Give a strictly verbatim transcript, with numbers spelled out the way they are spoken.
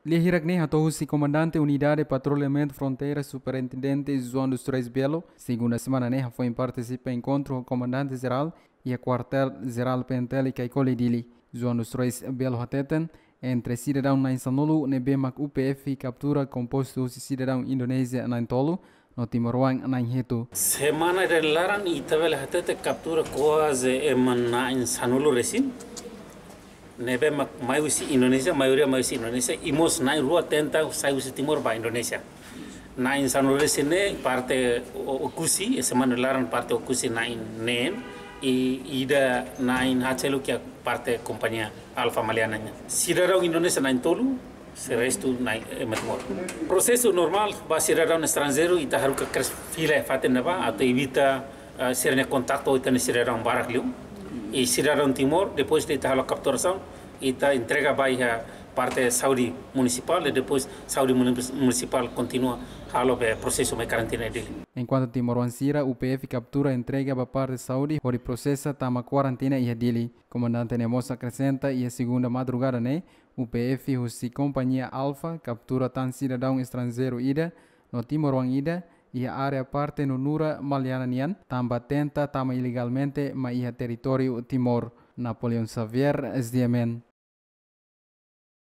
Lia hirak ne'e hato'o husi Komandante Unidade Patrulhamentu Fronteira, Superintendente João dos Reis Belo, segunda semana ne'e hafoin partisipa enkontru ho Komandante Jerál iha Kuartél Jerál P N T L Caicoli, Dili. João dos Reis Belo hateten, entre sidadaun na'in sanulu ne'ebé mak U P F kaptura kompostu husi sidadaun Indonézia na'in tolu no timoroan na'in hitu. Semana ida nia laran ita bele hatete kaptura kuaze ema na'in sanulu resin. Ne'ebé mak mai husi Indonézia, maioria mai husi Indonézia, i mós na'in rua tenta sai husi Timor ba Indonézia. Na'in sanulu resin ne'e parte O-, Oekusi, i semana nia laran parte Oekusi na'in neen, i ida na'in haat seluk iha parte kompañia Alfa Maliana nian. Sidadaun Indonézia na'in tolu, se restu na'in, eh, ema Timor. Prosesu normál, ba sidadaun estranjeiru, ita haruka kedas fila iha fatin ne'ebá, atu evita, eh, sira-nia kontaktu ho ita-nia sidadaun barak liu. I sidadaun Timor, depois de ita halo kapturasaun, ita entrega ba iha parte Saúde Munisipál, i depois Saúde Muni-, Munisipál kontinua halo be prosesu mai karantina iha Dili. Enkuantu timoroan sira U P F kaptura entrega ba parte Saúde hodi prosesa tama kuarantina iha Dili. Komandante ne'e mós akresenta, iha segunda madrugada ne'e, U P F husi kompañia Alfa kaptura tan sidadaun estranjeiru ida no timoroan ida iha área parte Nunura Maliana nian, tanba tenta tama ilegalmente mai iha territóriu Timor. Napoleão Xavier, S D M N.